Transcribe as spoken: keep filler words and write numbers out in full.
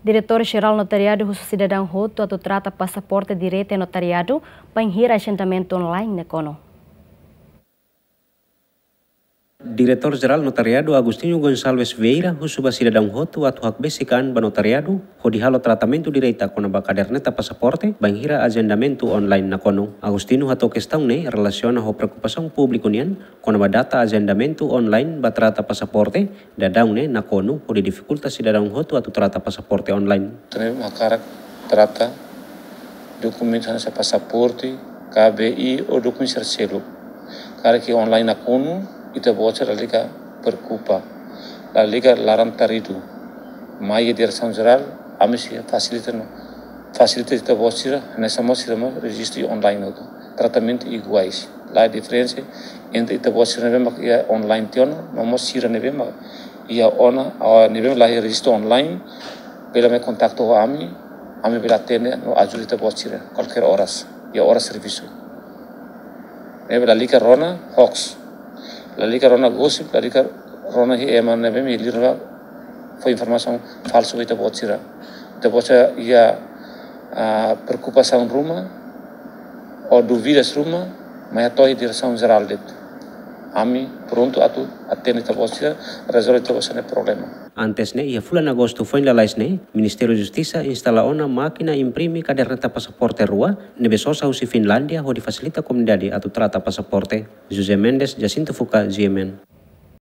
Diretór Jerál Notariadu husu sidadaun hotu atu trata pasaporte direta iha notariadu, bainhira ajendamentu online nakonu. Diretór Jerál Notariadu Agostinho Gonçalves Vieira husu ba sidadaun hotu atu hakbesik an ba notariadu, hodi halo tratamentu direta kona-ba kaderneta pasaporte, bainhira ajendamentu online nakonu. Agostinho hato'o kestaun ne'e relasiona ho preokupasaun públiku nian, kona-ba data ajendamentu online ba trata pasaporte, daudaun ne'e nakonu, hodi difikulta sidadaun hotu atu trata pasaporte online. Ita ne'ebé hakarak trata dokumentu hanesan pasaporte, K B I ou dokumentu sira seluk. Karik iha online nakonu, ita-boot sira lalika preokupa. Lalika laran-taridu. Mai iha Diresaun Jerál, ami sei fasilita no. Fasilita ita-boot sira, hanesan mós sira mós rejistu iha online hotu. Tratamentu iguais. La diferensa entre ita-boot sira ne'ebé mak iha online tiha ona, no mós sira ne'ebé mak iha ona, ah, ne'ebé mak la iha rejistu online, bele mai kontaktu ho ami, ami bele atende no ajuda ita-boot sira, kualkér oras, iha oras servisu. Ne'ebé lalika rona hoax, lalika rona gosip, lalika rona iha ema ne'ebé mak iha liur ne'ebá fó informasaun falsu ba ita-boot sira. Ita-boot sira iha, ah, preokupasaun ruma, ou dúvidas ruma, mai hato'o iha Diresaun Jerál de'it. Ami prontu atu atende ita-boot sira, rezolve ita-boot sira-nia problema. Antes ne'e, iha fulan Agostu foin lalais ne'e, Ministériu Justisa instala ona mákina imprime kaderneta pasaporte rua, ne'ebé sosa husi Finlándia, hodi fasilita komunidade atu trata pasaporte. José Mendes, Jacinto Fuca, G M N.